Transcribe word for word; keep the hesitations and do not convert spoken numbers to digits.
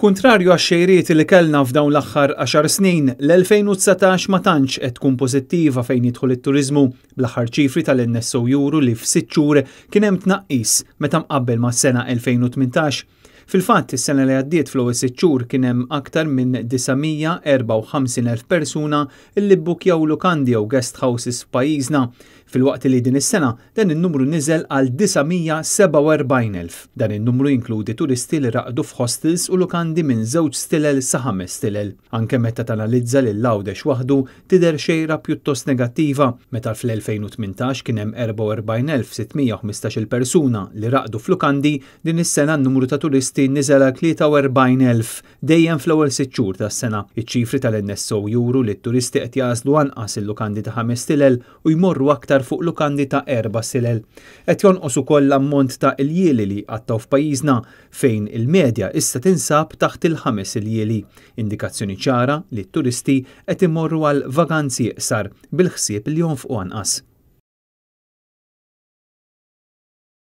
Kontrarju għax-xejriet li kellna f'dawn l-aħħar għaxar snin, l-elfejn u dsatax ma tantx qed tkun pożittiva fejn jidħol it-turiżmu. Bl-aħħar ċifri tal-N S O juru li f'sitt xhur kien hemm tnaqqis meta mqabbel mas-sena elfejn u tmintax. Fil-fatt, is-sena li għaddiet fl-ewwel sitt xhur kien hemm aktar minn disa' mija erbgħa u ħamsin elf persuna li bbukjaw lukandi jew guest houses f'pajjiżna, filwaqt li din is-sena dan in-numru niżel għal disa' mija sebgħa u erbgħin elf. Dan in-numru jinkludi turisti li raqdu f'hostels u lukandi minn żewġ stilel sa ħames stilel. Anke meta tanalizza lil Għawdex waħdu tidher xejra pjuttost negattiva, meta fl-elfejn u tmintax kien hemm erbgħa u erbgħin elf sitt mija u ħmistax-il persuna li raqdu f'lukandi, din is-sena n-numru ta' turisti niżel għal tlieta u erbgħin elf dejjem fl-ewwel sitt xhur tas-sena. Iċ-ċifri tal-N S O juru li t-turisti qed jażlu anqas il-lukandi ta' ħames stilel u jmorru aktar fuq lukandi ta' erba' stilel. Qed jonqos ukoll l-ammont ta' iljieli li qattaw f'pajjiżna, fejn il-medja issa tinsab taħt il-ħames iljieli, indikazzjoni ċara li t-turisti qed imorru għal vaganzi iqsar bil-ħsieb li jonfqu anqas.